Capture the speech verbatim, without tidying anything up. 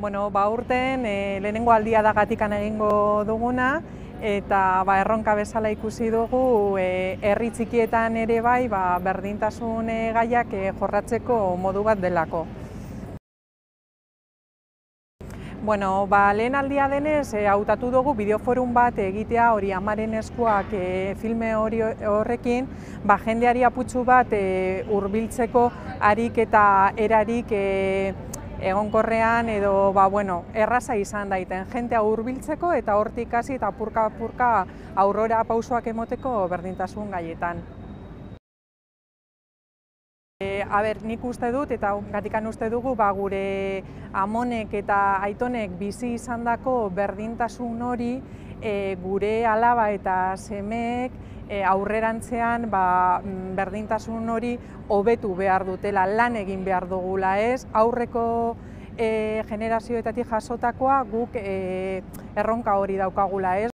Bueno, ba, urten e, lehenengo aldia da gatikan egingo duguna, eta ba, erronka bezala ikusi dugu e, herri txikietan ere bai ba, berdintasun e, gaiak e, jorratzeko modu bat delako. Bueno, ba, lehen aldia denez, e, hautatu dugu bideoforum bat egitea hori Amaren eskuak e, filme hori horrekin, ba, jendeari aputxu bat e, hurbiltzeko harik eta erarik e, egonkorrean edo ba, bueno, erraza izan daiten jentea hurbiltzeko eta hortik hasi eta apurka-apurka aurrera pausoak emoteko berdintasun gaietan. E, a ber, nik uste dut eta gatikan uste dugu ba, gure amonek eta aitonek bizi izandako berdintasun hori e, gure alaba eta semeek e, aurrerantzean ba, berdintasun hori hobetu behar dutela, lan egin behar dugula ez, aurreko e, generazioetatik jasotakoa guk e, erronka hori daukagula ez.